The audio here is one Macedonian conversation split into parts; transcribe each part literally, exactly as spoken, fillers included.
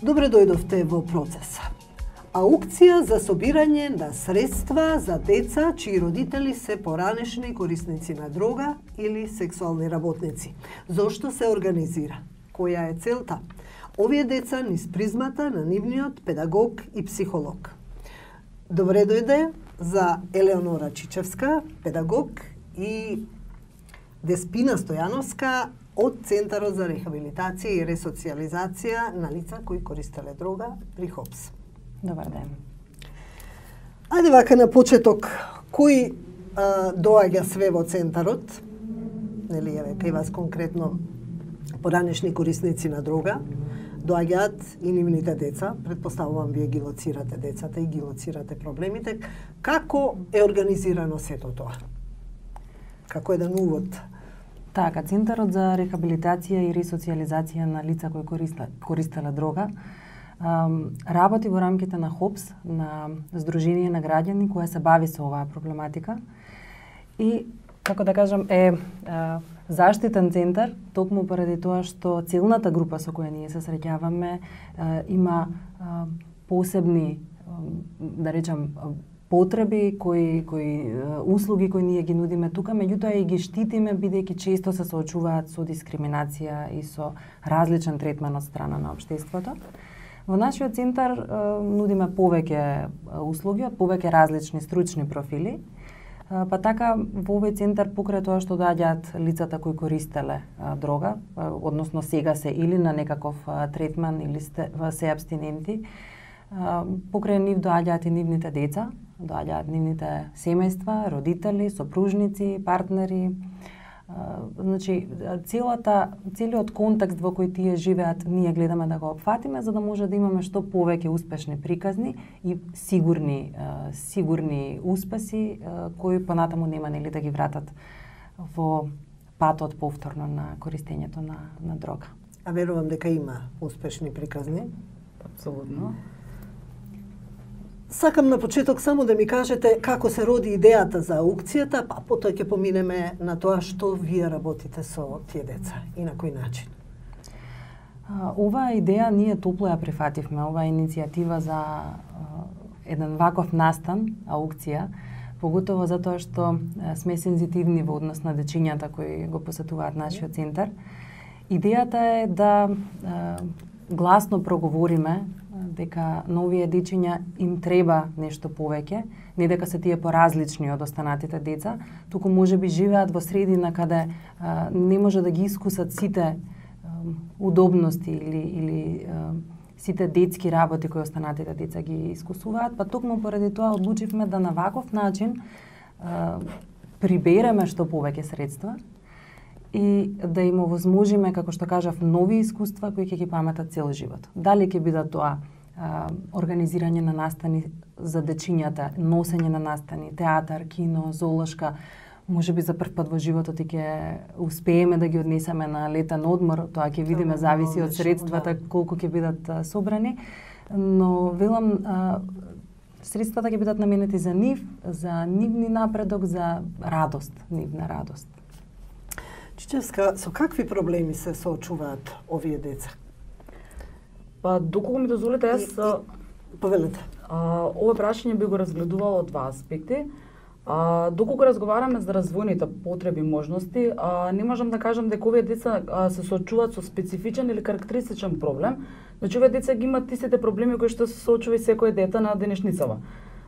Добре дојдовте во процеса. Аукција за собирање на средства за деца чии родители се поранешни корисници на дрога или сексуални работници. Зошто се организира? Која е целта? Овие деца низ призмата на нивниот педагог и психолог. Добре дојде за Елеонора Чичевска, педагог, и Деспина Стојановска од Центарот за рехабилитација и ресоциализација на лица кои користеле дрога при ХОПС. Добар ден. Ајде вака на почеток, кој а, доаѓа све во Центарот? Нели, еве, кај вас конкретно поранешни корисници на дрога, доаѓаат и нивните деца, предпоставувам вие ги лоцирате децата и ги лоцирате проблемите. Како е организирано сето тоа? Како еден увод? Така, Центарот за рехабилитација и ресоциализација на лица кои користеле дрога работи во рамките на ХОПС, на Сдружение на граѓани која се бави со оваа проблематика и, како да кажам, е заштитен центар, токму поради тоа што целната група со која ние се среќаваме има посебни, да речам, потреби, кои, кои услуги кои ние ги нудиме тука, меѓутоа и ги штитиме бидејќи често се соочуваат со дискриминација и со различен третман од страна на општеството. Во нашиот центар нудиме повеќе услуги од повеќе различни стручни профили. Па така, во овој центар, покрај тоа што доаѓаат лицата кои користеле дрога, односно сега се или на некаков третман или се абстиненти, покрај нив доаѓаат и нивните деца, доаѓаат нивните семејства, родители, сопружници, партнери. Значи, целата, целиот контекст во кој тие живеат, ние гледаме да го опфатиме, за да може да имаме што повеќе успешни приказни и сигурни, сигурни успеси, кои понатаму нема нели да ги вратат во патот повторно на користењето на, на дрога. А верувам дека има успешни приказни. Апсолутно. Сакам на почеток само да ми кажете како се роди идејата за аукцијата, па потоа ќе поминеме на тоа што вие работите со тие деца и на кој начин. Оваа идеја ние топло ја прифативме, оваа иницијатива за еден ваков настан, аукција, поготово затоа што сме сензитивни во однос на дечињата кои го посетуваат нашиот центар. Идејата е да гласно проговориме дека на овие дечиња им треба нешто повеќе, не дека се тие поразлични од останатите деца, туку можеби живеат во средина каде а, не може да ги искусат сите а, удобности или, или а, сите детски работи кои останатите деца ги искусуваат, па токму поради тоа одлучивме да на ваков начин а, прибереме што повеќе средства и да им овозможиме, како што кажав, нови искуства кои ќе ги паметат цел живот. Дали ќе бидат тоа а, организирање на настани за дечињата, носење на настани, театар, кино, зоолошка, можеби за прв пат во животот и ќе успееме да ги однесеме на летен одмор, тоа ќе видиме, зависи од средствата колку ќе бидат а, собрани, но велам а, средствата ќе бидат наменети за нив, за нивни напредок, за радост, нивна радост. Чичевска, со какви проблеми се соочуваат овие деца? Па, доколку ми дозволите, јас... Повелете. Ова прашање би го разгледувала од два аспекти. А, доколку разговараме за развојните потреби и можности, а, не можам да кажам дека овие деца а, се соочуваат со специфичен или карактеристичен проблем. Значи, овие деца ги имат истите проблеми кои што се соочува и секој дете на денешницава.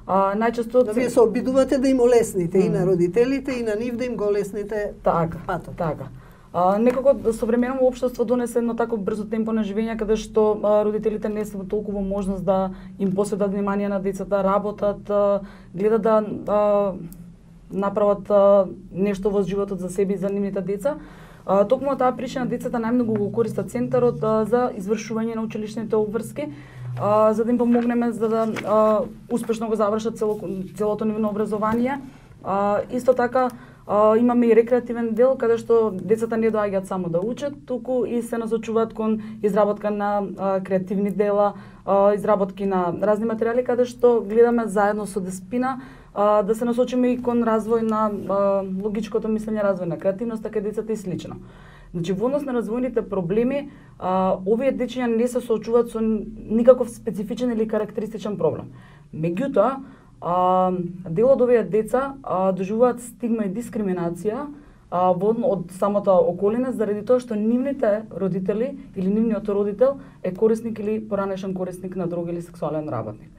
А, најчесто... Да, вие се обидувате да им олесните mm. и на родителите, и на нив да им го олесните така, патот. Така. А, некако современо општество донесе едно такво брзо темпо на живење, каде што а, родителите не се во толкова можност да им посветат внимание на децата, работат, а, гледат да а, направат а, нешто во животот за себе и за нивните деца. А, токму таа причина децата најмногу го користат центарот а, за извршување на училишните обврски, а, за да им помогнеме за да а, успешно го завршат цело, целото нивно образование. А, исто така а, имаме и рекреативен дел каде што децата не доаѓаат само да учат, туку и се насочуваат кон изработка на а, креативни дела, а, изработки на разни материјали каде што гледаме заедно со Деспина а, да се насочиме и кон развој на а, логичкото мислење, развој на креативноста кај децата и слично. Значи, во однос на развојните проблеми, а, овие дечиња не се соочуваат со никаков специфичен или карактеристичен проблем. Меѓутоа, а, дел од овие деца а, доживуваат стигма и дискриминација а, во, од самата околина заради тоа што нивните родители или нивниот родител е корисник или поранешен корисник на дрога или сексуален работник.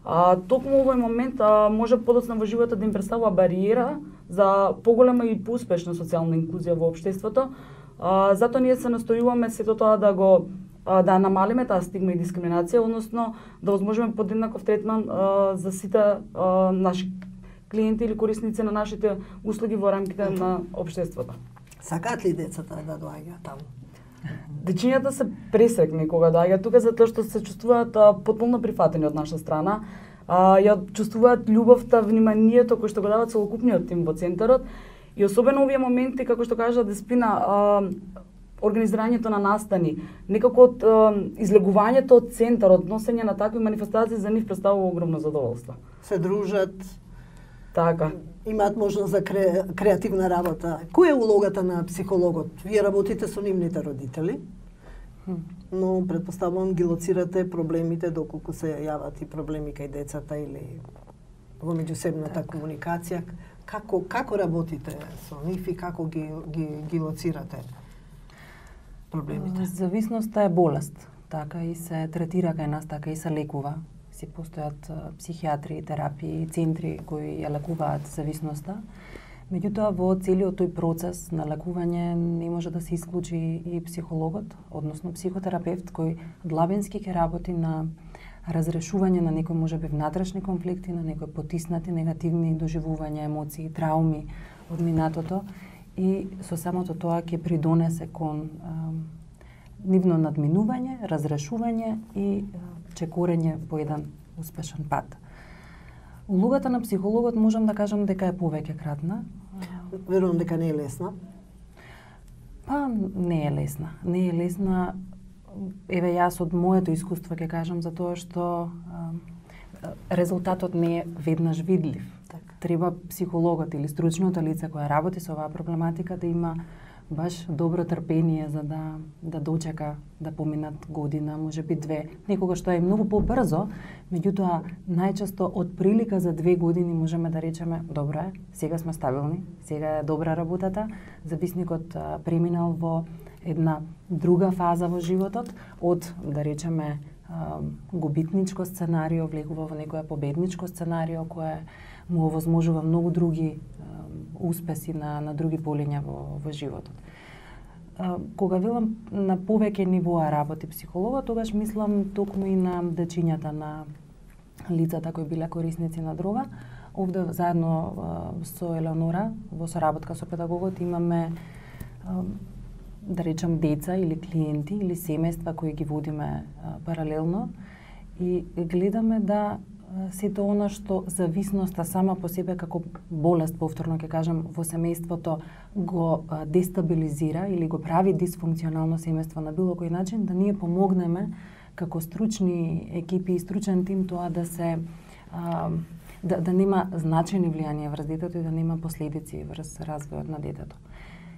А, токму овој момент а, може подоцна во животот да им представува бариера за поголема и поуспешна социјална инклузија во општеството. А, затоа ние се настојуваме сето тоа да го а, да намалиме таа стигма и дискриминација, односно да возможиме подеднаков третман а, за сите а, наши клиенти или корисници на нашите услуги во рамките на општеството. Сакаат ли децата да доаѓаат таму? Дечињата се пресрекни кога доаѓаат тука затоа што се чувствуваат а, потполно прифатени од наша страна. А, ја чувствуваат љубовта, вниманието кој што го дават целокупниот тим во центарот. И особено овие моменти, како што кажа Деспина, а, организирањето на настани, некако од а, излегувањето од центарот, носење на такви манифестации за нив представува огромно задоволство. Се дружат, така. Имаат можност за кре, креативна работа. Која е улогата на психологот? Вие работите со нивните родители, но предпоставувам ги лоцирате проблемите доколку се јават и проблеми кај децата или во меѓусебната так. комуникација. Како како работите со нив и како ги ги ги лоцирате проблемите? Зависноста е болест, така и се третира кај нас, така и се лекува. Си постојат психијатри, терапии, центри кои ја лекуваат зависноста. Меѓутоа, во целиот тој процес на лекување не може да се исклучи и психологот, односно психотерапевт кој длабински ќе работи на разрешување на некои можеби внатрешни конфликти, на некои потиснати негативни доживувања, емоции, трауми од минатото и со самото тоа ќе придонесе кон а, нивно надминување, разрешување и а, чекорење по еден успешен пат. Улогата на психологот можам да кажам дека е повеќе кратна. Верувам дека не е лесна. Па не е лесна. Не е лесна. Еве јас од моето искуство ќе кажам за тоа што а, резултатот не е веднаш видлив. Так. Треба психологот или стручното лице која работи со оваа проблематика да има баш добро трпение за да да дочека да поминат година, можеби две, некогаш тоа е многу побрзо, меѓутоа најчесто од прилика за две години можеме да речеме добро е, сега сме стабилни, сега е добра работата, зависникот а, преминал во една друга фаза во животот, од да речеме а, губитничко сценарио влегува во некое победничко сценарио кое му овозможува многу други успеси на, на други полиња во, во животот. А, кога велам на повеќе нивоа работи психологот, тогаш мислам токму и на дечињата на лицата кои биле корисници на дрога. Овде заедно а, со Елеонора, во соработка со педагогот, имаме а, да речам деца или клиенти или семејства кои ги водиме а, паралелно и гледаме да сето она што зависноста сама по себе како болест, повторно ќе кажам, во семејството го дестабилизира или го прави дисфункционално семејство на било кој начин, да ние помогнеме како стручни екипи и стручен тим тоа да се а, да, да нема значајни влијанија врз детето и да нема последици врз развојот на детето.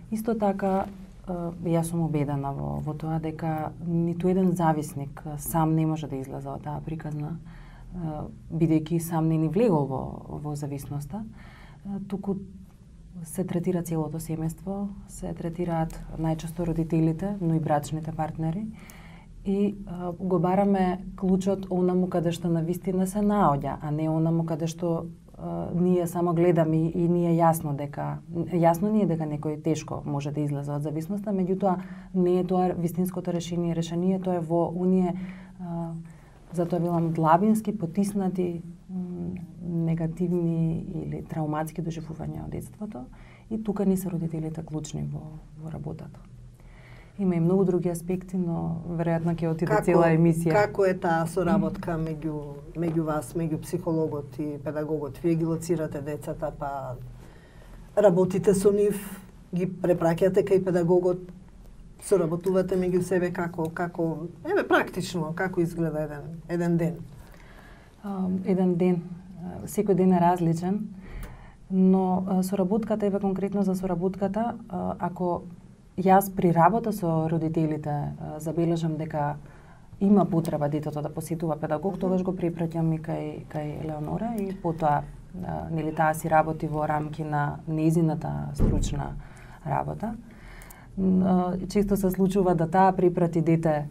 Исто така, јас сум убедена во, во тоа дека ниту еден зависник сам не може да излезе од таа приказна, бидејќи сам не ни влегол во, во зависноста, туку се третира целото семејство, се третираат најчесто родителите, но и брачните партнери и а, го бараме клучот онаму каде што навистина се наоѓа, а не онаму каде што а, ние само гледаме и, и ние јасно дека јасно ни е дека некој тешко може да излезе од зависноста, меѓутоа не е тоа вистинското решение, решението е во оние а, затоа велам длабински потиснати негативни или трауматски доживувања од детството и тука не се родителите клучни во, во работата. Има и многу други аспекти, но веројатно ќе отиде како, цела емисија. Како е таа соработка меѓу меѓу вас, меѓу психологот и педагогот? Вие ги лоцирате децата, па работите со нив, ги препраќате кај педагогот, соработувате меѓу себе како како еве практично како изгледа еден еден ден. Uh, еден ден секој ден е различен, но соработката, еве конкретно за соработката, ако јас при работа со родителите забележам дека има потреба детето да посетува педагог, тогаш го препраќам и кај кај Елеонора и потоа нели таа си работи во рамки на нејзината стручна работа. Често се случува да таа препрати дете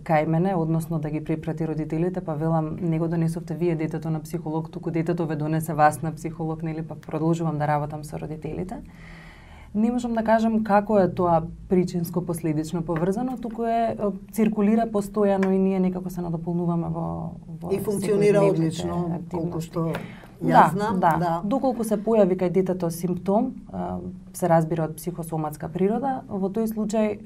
кај мене, односно да ги препрати родителите, па велам не го донесовте вие детето на психолог, туку детето ве донесе вас на психолог, нели, па продолжувам да работам со родителите. Не можам да кажам како е тоа причинско-последично поврзано, туку е циркулира постојано и ние некако се надополнуваме во во и функционира одлично, колку што јас да, знам, да. да. Доколку се појави кај детето симптом, се разбира од психосоматска природа, во тој случај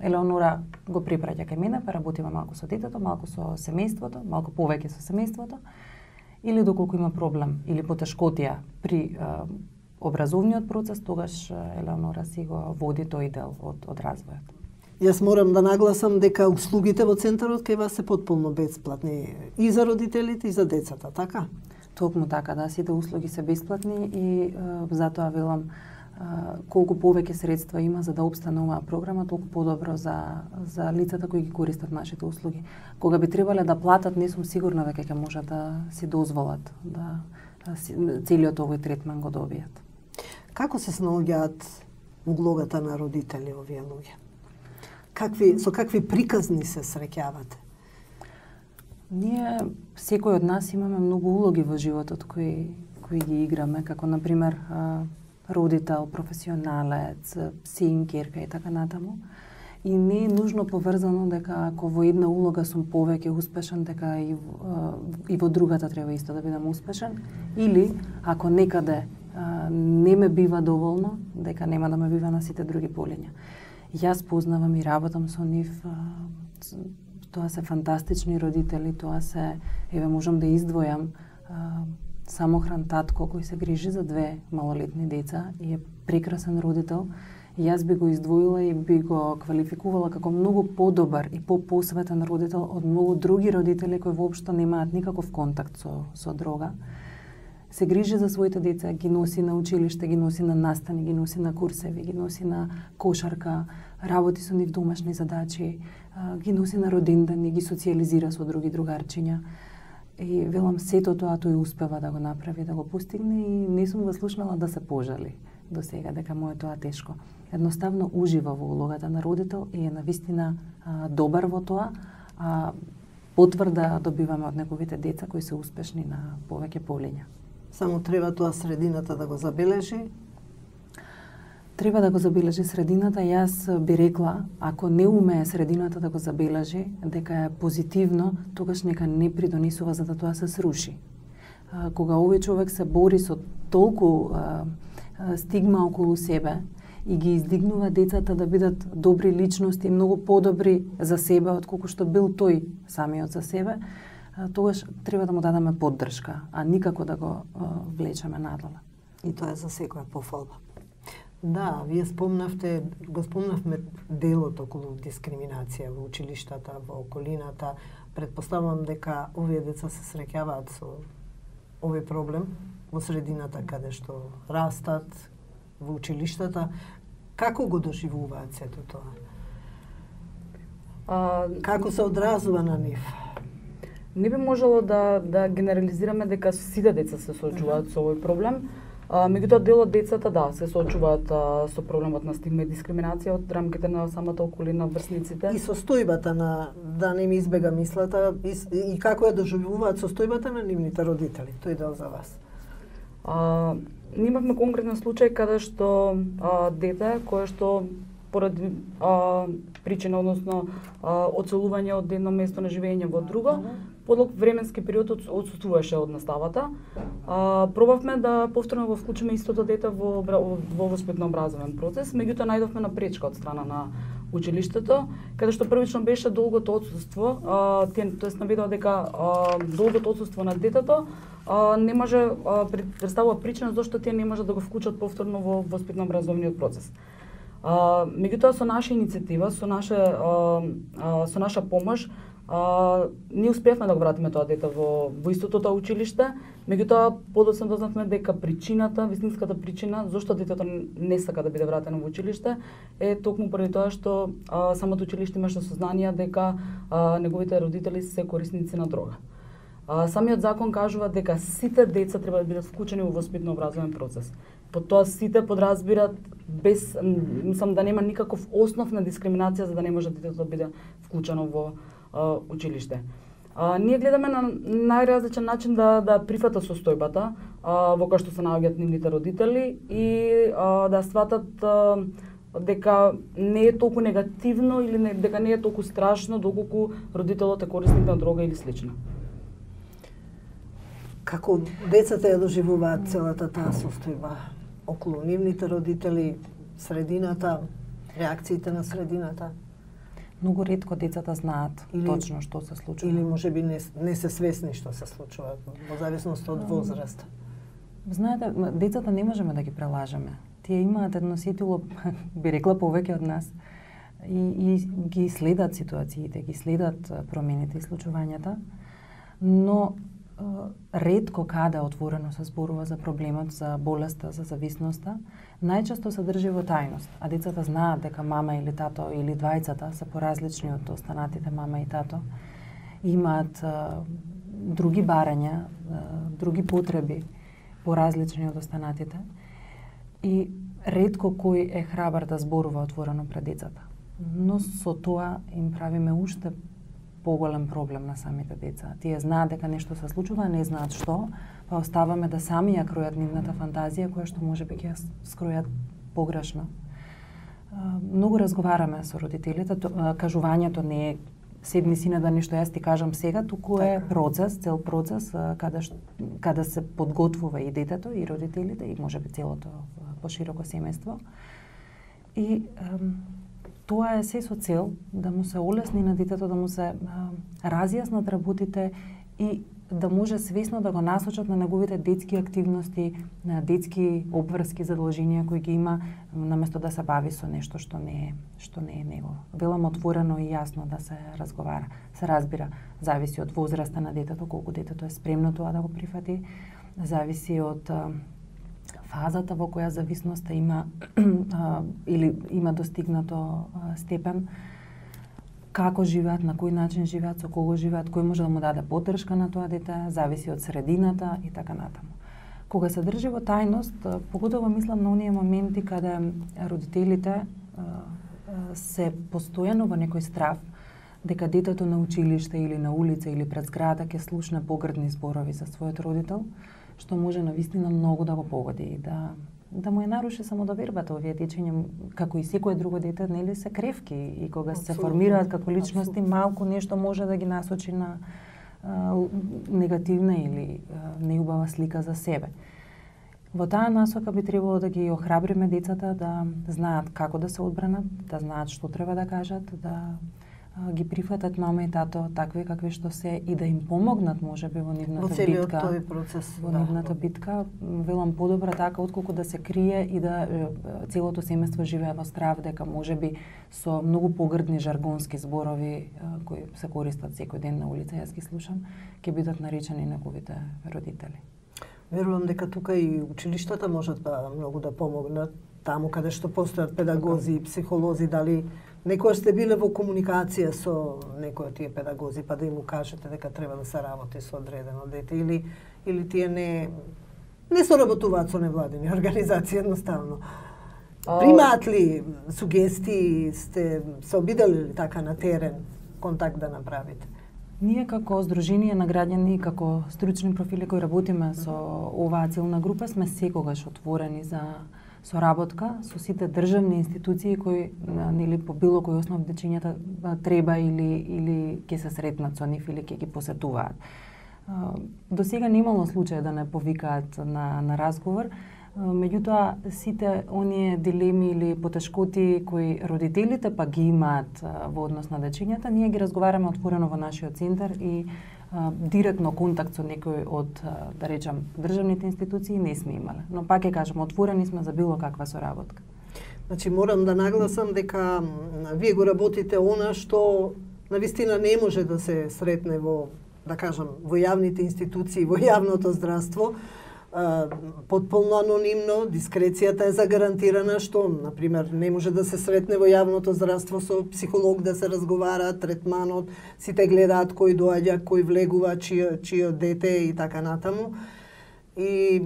Елеонора го препраќа кај мене, па работиме малку со детето, малку со семејството, малку повеќе со семејството, или доколку има проблем или потешкотија при образовниот процес, тогаш Елеонора си го води тој дел од, од развојот. Јас морам да нагласам дека услугите во центарот кај вас се потполно бесплатни и за родителите и за децата, така? Токму така, да, сите услуги се бесплатни и е, затоа велам е, колку повеќе средства има за да обстане оваа програма, толку подобро за за лицата кои ги користат нашите услуги. Кога би требале да платат, не сум сигурна дека ќе можат да си дозволат да, да си, целиот овој третман го добијат. Како се снаоѓаат углогата на родители овие луѓе? Какви со какви приказни се среќавате? Ние, секој од нас имаме многу улоги во животот кои, кои ги играме, како например родител, професионалец, син, керка и така натаму. И не е нужно поврзано дека ако во една улога сум повеќе успешен, дека и, и во другата треба исто да бидам успешен. Или, ако некаде не ме бива доволно, дека нема да ме бива на сите други полиња. Јас познавам и работам со нив. Тоа се фантастични родители, тоа се, еве можам да издвојам, самохран татко кој се грижи за две малолетни деца и е прекрасен родител. Јас би го издвоила и би го квалификувала како многу подобар и по-посветен родител од многу други родители кои воопшто немаат никаков контакт со, со дрога. Се грижи за своите деца, ги носи на училиште, ги носи на настани, ги носи на курсеви, ги носи на кошарка, работи со нив домашни задачи, ги носи на родендани, ги социализира со други другарчиња. И велам сето тоа тој успева да го направи, да го постигне и не сум го слушнала да се пожали до сега дека му е тоа тешко. Едноставно ужива во улогата на родител и е навистина а, добар во тоа, а потврда добиваме од неговите деца кои се успешни на повеќе полиња. Само треба тоа средината да го забележи? Треба да го забележи средината. Јас би рекла, ако не умее средината да го забележи, дека е позитивно, тогаш нека не придонесува за да тоа се сруши. А, кога овој човек се бори со толку а, а, стигма околу себе и ги издигнува децата да бидат добри личности, многу подобри за себе отколку што бил тој самиот за себе, тогаш треба да му дадеме поддршка, а никако да го а, влечеме надоле. И тоа е за секоја пофалба. Да, вие спомнавте, го спомнавме делот околу дискриминација во училиштата, во околината. Предпоставувам дека овие деца се среќаваат со овој проблем во средината каде што растат, во училиштата. Како го доживуваат сето тоа? А, Како се одразува на нив? Не би можело да да генерализираме дека сите деца се соочуваат со овој проблем. А, меѓутоа дел од децата да се соочуваат а, со проблемот на стигма и дискриминација од рамките на самата околина врсниците. И состојбата на, да не ми избега мислата, и, и како ја доживуваат состојбата на нивните родители. Тој дел за вас. А, ние имавме конкретен случај каде што а, дете кое што поради а, причина, односно а, оцелување од едно место на живење во друго, подлог временски период отсуствуваше од наставата. А, пробавме да повторно го вклучиме истото дете во, во воспитно-образовен процес, меѓутоа најдовме на пречка од страна на училиштето, каде што првично беше долгото отсуство, а, тоест наведува дека а, долгото отсуство на детето а, не може а, представува причина зашто тие не може да го вклучат повторно во воспитно-образовниот процес. А, меѓутоа со наша иницијатива, со наша а, а, со наша помош, А, ние успеавме да го вратиме тоа дете во, во истото тоа училиште, меѓутоа подоцна дознавме дека причината, вистинската причина зошто детето не сака да биде вратено во училиште е токму поради тоа што а, самото училиште имаше сознание дека а, неговите родители се корисници на дрога. А, самиот закон кажува дека сите деца треба да бидат вклучени во воспитно-образовен процес. По тоа сите подразбират без, мислам да нема никаков основ на дискриминација за да не може детето да биде вклучено во Uh, училиште. Uh, ние гледаме на најразличен начин да да прифата состојбата uh, во која што се наоѓаат нивните родители и uh, да сватат uh, дека не е толку негативно или не, дека не е толку страшно доколку родителот е корисник на дрога или слично. Како децата ја доживуваат целата таа состојба околу нивните родители, средината, реакциите на средината? Многу ретко децата знаат или, точно што се случува. Или можеби не, не се свесни што се случува, во зависност од возраст. Знаете, децата не можеме да ги прелажеме. Тие имаат едно сетило, би рекла, повеќе од нас. И, и ги следат ситуациите, ги следат промените и случувањата, но ретко каде отворено се зборува за проблемот, за болеста, за зависноста, најчесто се држи во тајност, а децата знаат дека мама или тато или двајцата се поразлични од останатите мама и тато, имаат а, други барања, а, други потреби поразлични од останатите и ретко кој е храбар да зборува отворено пред децата. Но со тоа им правиме уште поголем проблем на самите деца. Тие знаат дека нешто се случува, не знаат што, па оставаме да сами ја кројат нивната фантазија, која што можеби ќе скројат погрешно. Многу разговараме со родителите, кажувањето не е седни сине да нешто јас ти кажам сега, туку е процес, цел процес, каде, каде се подготвува и детето, и родителите, и можеби целото пошироко семејство. И тоа е се со цел да му се олесни на детето, да му се а, разјаснат работите и да може свесно да го насочат на неговите детски активности, на детски обврски задолженија кои ги има, наместо да се бави со нешто што не е, што не е негово. Велам отворено и јасно да се разговара, се разбира, зависи од возраста на детето, колку детето е спремно тоа да го прифати, зависи од а, фазата во која зависноста има а, или има достигнато а, степен, како живеат, на кој начин живеат, со кого живеат, кој може да му даде поддршка на тоа дете, зависи од средината и така натаму. Кога се држи во тајност, поготово мислам на оние моменти каде родителите а, а, се постојано во некој страв дека детето на училиште или на улица или пред зграда ќе слушне погрдни зборови за својот родител, што може навистина многу да го погоди и да да му е наруши самодовербата. Овие дечиња, како и секое друго дете, нели се кревки и кога се формираат како личности, малку нешто може да ги насочи на а, негативна или а, неубава слика за себе. Во таа насока би требало да ги охрабриме децата да знаат како да се одбранат, да знаат што треба да кажат, да ги прифатат мама и тато такви какви што се и да им помогнат можеби во нивната во целиот битка. Тој процес, во да. нивната битка, велам подобра така отколку да се крие и да целото семејство живее во страв дека можеби со многу погрдни жаргонски зборови кои се користат секој ден на улица, јас ги слушам, ќе бидат наречени неговите родители. Верувам дека тука и училиштата можат да многу да помогнат таму каде што постојат педагози и психолози, дали некојаш сте биле во комуникација со некој од тие педагози, па да им кажете дека треба да се работи со одредено дете, или или тие не не соработуваат со невладини организации едноставно. Примаат ли сугестии, сте се обидели ли така на терен контакт да направите? Ние како Сдружение на граѓани и како стручни профили кои работиме со оваа целна група сме секогаш отворени за соработка со сите државни институции кои нели по било кој основ дечињата треба или или ќе се сретнат со нив или ќе ги посетуваат. До сега немало случај да не повикаат на на разговор, меѓутоа сите оние дилеми или потешкоти кои родителите па ги имаат во однос на дечињата, ние ги разговараме отворено во нашиот центар и а, директно контакт со некој од, да речам, државните институции не сме имале. Но пак ќе кажам, отворени сме за било каква соработка. Значи морам да нагласам дека вие го работите она што навистина не може да се сретне во, да кажам, во јавните институции, во јавното здравство, потполно анонимно, дискрецијата е загарантирана, што, например, не може да се сретне во јавното здравство со психолог да се разговара, третманот, сите гледаат кој доаѓа, кој влегува, чио, чио дете и така натаму. И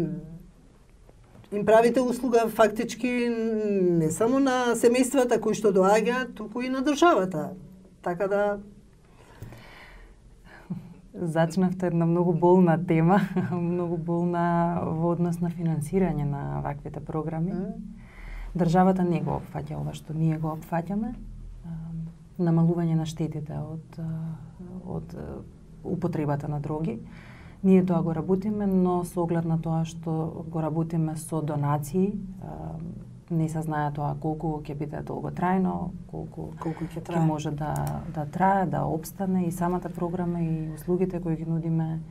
им правите услуга фактички не само на семејствата кои што доаѓаат, туку и на државата. Така да зачнавте една многу болна тема, многу болна во однос на финансирање на ваквите програми. Mm. Државата не го опфаќа ова што ние го опфаќаме, намалување на штетите од од употребата на дроги. Ние тоа го работиме, но со оглед на тоа што го работиме со донации, не се знае тоа колку ќе биде долготрајно, колку, колку ќе ќе може да да трае, да опстане и самата програма и услугите кои ги нудиме.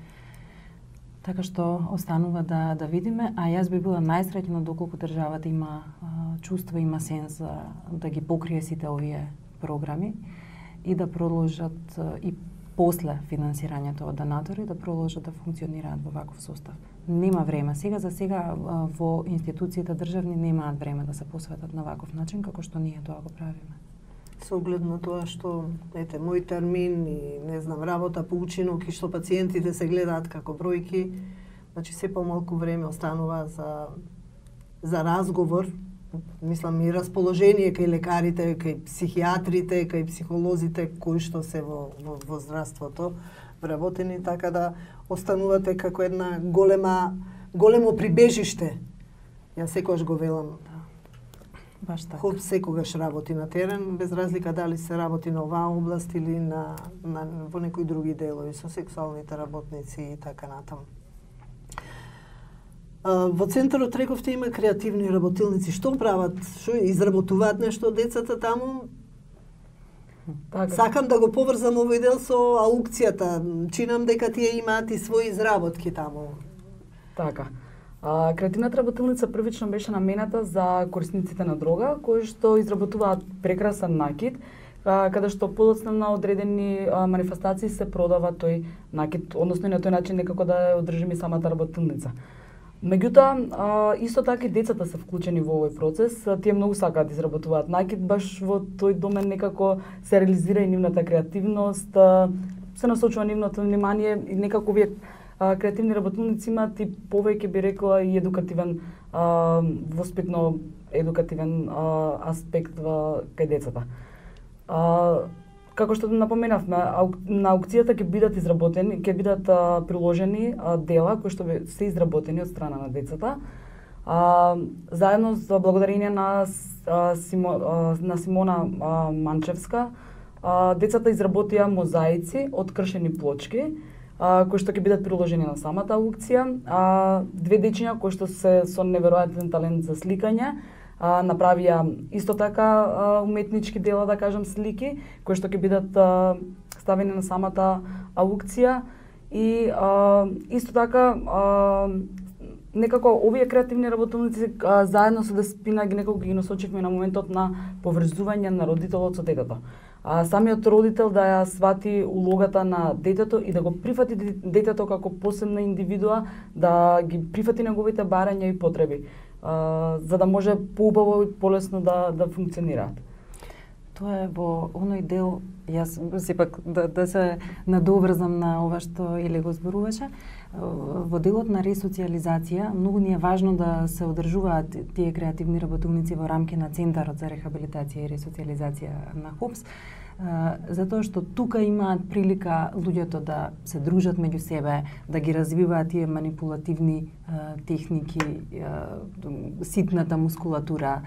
Така што останува да да видиме, а јас би била најсреќна доколку државата има а, чувство, има сенс за да ги покрие сите овие програми и да продолжат а, и после финансирањето од донатори да продолжат да функционираат во ваков состав. Нема време. Сега за сега во институциите државни немаат време да се посветат на ваков начин како што ние тоа го правиме. Со оглед на тоа што, ете, мој термин и, не знам, работа по учинок и што пациентите се гледаат како бројки, значи се помалку време останува за, за разговор, мислам и расположение кај лекарите, кај психијатрите, кај психолозите кои што се во, во, во здравството вработени, така да останувате како една голема, големо прибежиште. Јас секогаш го велам. Баш така. Хоп секогаш работи на терен, без разлика дали се работи на оваа област или на, на во некои други делови со сексуалните работници и така натаму. Во центарот рековте има креативни работилници. Што прават? Што изработуваат нешто од децата таму? Така. Сакам да го поврзам овој дел со аукцијата. Чинам дека тие имаат и своји изработки таму. Така. А, креативната работилница првично беше намената за корисниците на дрога, кои што изработуваат прекрасен накид, а, каде што подоцна на одредени а, манифестации се продава тој накид, односно и на тој начин некако да ја одржиме самата работилница. Меѓутоа, исто така и децата се вклучени во овој процес, тие многу сакаат да изработуваат накид, баш во тој домен некако се реализира и нивната креативност, се насочува нивното внимание и некако овие креативни работилници имаат и повеќе би рекла и едукативен, воспитно едукативен аспект во кај децата. Како што напоменавме, на аукцијата ќе бидат изработени, ќе бидат а, приложени а, дела кои што се изработени од страна на децата. А, заедно за благодарение на а, Симо, а, на Симона а, Манчевска, а, децата изработија мозаици од кршени плочки, а, кои што ќе бидат приложени на самата аукција. А, две дечиња кои што се со неверојатен талент за сликање, А, направија исто така а, уметнички дела, да кажам, слики, кои што ќе бидат а, ставени на самата аукција и а, исто така а, некако овие креативни работилници а, заедно со Деспина ги некако ги насочивме на моментот на поврзување на родителот со детето. А, самиот родител да ја свати улогата на детето и да го прифати детето како посебна индивидуа, да ги прифати неговите барања и потреби. Uh, за да може поубаво и полесно да да функционираат. Тоа е во оној дел, јас сепак да, да се надоврзам на ова што Иле го зборуваше, во делот на ресоциализација, многу ни е важно да се одржуваат тие креативни работилници во рамки на Центарот за рехабилитација и ресоциализација на ХОПС, затоа што тука имаат прилика луѓето да се дружат меѓу себе, да ги развиваат тие манипулативни а, техники, а, ситната мускулатура,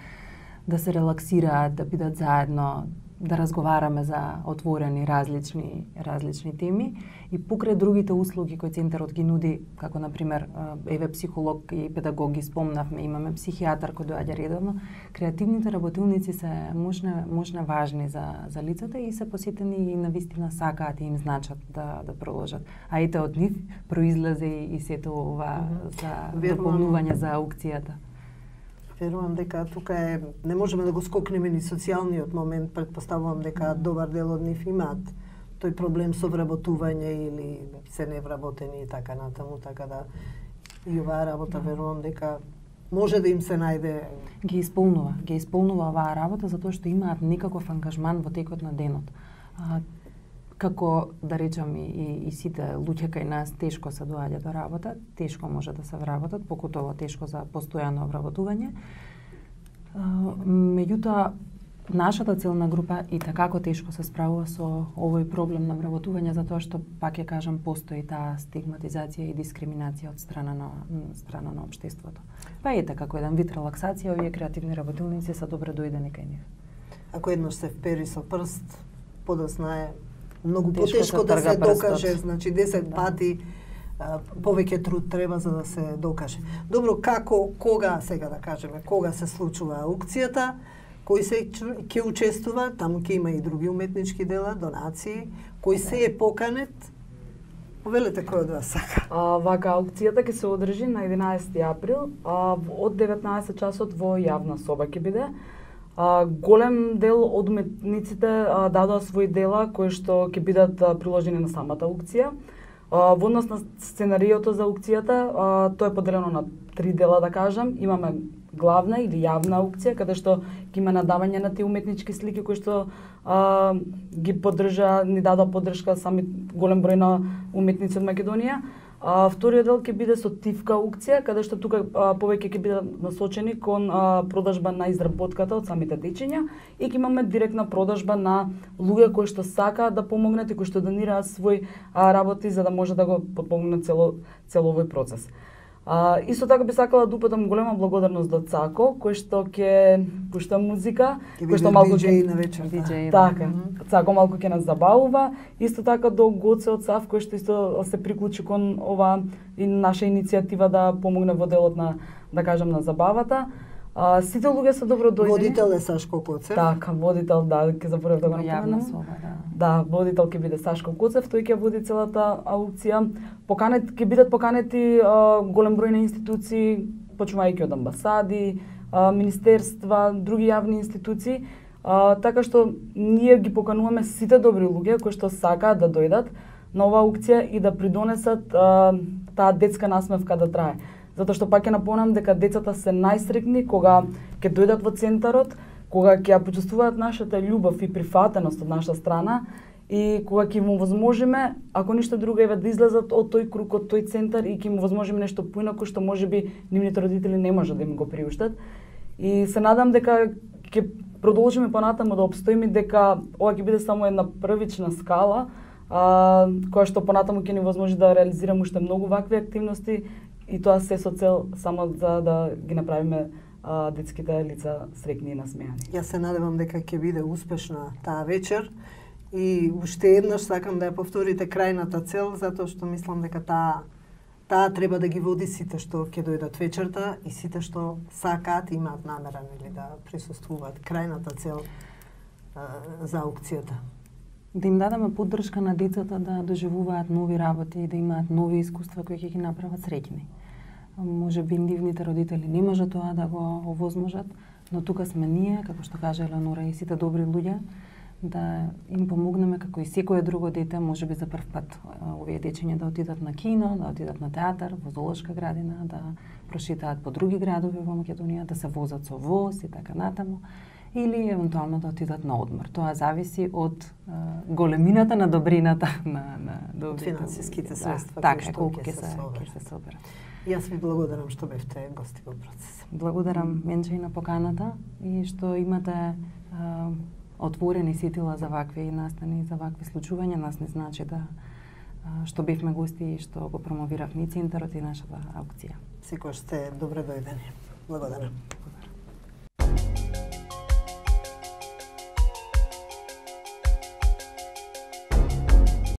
да се релаксираат, да бидат заедно, да разговараме за отворени различни различни теми и покрај другите услуги кои центарот ги нуди, како на пример еве психолог и педагог ги спомнавме, имаме психијатар кој доаѓа редовно, креативните работилници се можне можне важни за за лицата и се посетени и навистина сакаат и им значат да да продолжат. А ете од нив произлезе и сето ова за дополнување за аукцијата. Верувам дека тука е, не можеме да го скокнеме ни социјалниот момент, претпоставувам дека добар дел од нив имаат тој проблем со вработување или се невработени и така натаму, така да и оваа работа верувам дека може да им се најде. Ги исполнува, ги исполнува оваа работа затоа што имаат некаков ангажман во текот на денот. А, како да речам и, и, и сите луѓе кај нас тешко се доаѓа до работа, тешко може да се вработат, покутово тешко за постојано вработување. Меѓутоа, нашата целна група и такако тешко се справува со овој проблем на вработување затоа што, пак ја кажам, постои таа стигматизација и дискриминација од страна на страна на општеството. Па ете, како еден вид релаксација, овие креативни работилници се добре дојдени кај нив. Ако еднаш се впери со прст, подоцна е многу Тешко потешко се да трга се прстот. докаже, значи десет Да. пати а, повеќе труд треба за да се докаже. Добро, како, кога, сега да кажеме, кога се случува аукцијата, кој се ќе учествува, таму ќе има и други уметнички дела, донации, кој се е поканет, повелете кој од вас сака. А, вака, аукцијата ќе се одржи на единаесети април, а, од деветнаесет часот во јавна соба ќе биде. А, голем дел од уметниците а, дадоа своји дела кои што ќе бидат а, приложени на самата аукција. А, во однос на сценариото за аукцијата, а, тоа е поделено на три дела, да кажам. Имаме главна или јавна аукција, каде што ќе има надавање на тие уметнички слики кои што а, ги поддржа, ни дадоа поддршка сами голем број на уметници од Македонија. А, вториот дел ќе биде со тивка аукција, каде што тука а, повеќе ќе бидат насочени кон а, продажба на изработката од самите дечиња и ќе имаме директна продажба на луѓе кои што сакаат да помогнат и кои што донираат свој а, работи за да може да го подпомогнат цело цело овој процес. А, исто така би сакала да упатам голема благодарност до Цако, кој што ќе пушта музика, кој што малку ќе на вечер. Диџеј, така, Цако малку ќе нас забавува, исто така до Гоце од Сав кој што исто се приклучи кон ова и наша иницијатива да помогне во делот на, да кажам, на забавата. А, сите луѓе се добро дојдени. Водител е Сашко Коцев. Така, водител, да, ќе заборев да го во јавна напоменам. соба, да. Да, водител ќе биде Сашко Коцев, тој ќе води целата аукција. Поканет ќе бидат поканети а, голем број на институции, почнувајќи од амбасади, а, министерства, други јавни институции, а, така што ние ги покануваме сите добри луѓе кои што сакаат да дојдат на оваа аукција и да придонесат а, таа детска насмевка да трае. Затоа што пак ќе напомнам дека децата се најсреќни кога ќе дојдат во центарот, кога ќе ја почувствуваат нашата љубов и прифатеност од наша страна и кога ќе им овозможиме, ако ништо друго, еве да излезат од тој круг, од тој центар и ќе им овозможиме нешто поинаку што можеби нивните родители не може да им го приуштат. И се надам дека ќе продолжиме понатаму да обстоиме, дека ова ќе биде само една првична скала, а, која што понатаму ќе ни возможи да реализираме уште многу вакви активности и тоа се со цел само за да ги направиме а, детските лица среќни и насмеани. Јас се надевам дека ќе биде успешна таа вечер и уште еднаш сакам да ја повторите крајната цел, затоа што мислам дека таа таа треба да ги води сите што ќе дојдат вечерта и сите што сакаат и имаат намера нели да присуствуваат. Крајната цел а, за аукцијата. Да им дадеме поддршка на децата да доживуваат нови работи и да имаат нови искуства кои ќе ги направат среќни. Може би нивните родители не може тоа да го овозможат, но тука сме ние, како што кажа Елеонора, и сите добри луѓе, да им помогнеме како и секое друго дете, може би за прв пат овие дечиња да отидат на кино, да отидат на театар, во зоолошка градина, да прошетаат по други градови во Македонија, да се возат со воз и така натаму, или евентуално да отидат на одмор. Тоа зависи од а, големината на добрината на на добрите финансиските луѓе. средства да, кои така, што колку ќе ќе се се соберат. ќе се соберат. Јас ви благодарам што бевте гости во процес. Благодарам Менче и на поканата и што имате а, отворени сетила за вакви настани, за вакви случувања. Нас не значи да а, што бевме гости и што го промовиравме и центарот и нашата аукција. Секој сте добре дојдени. Благодарам.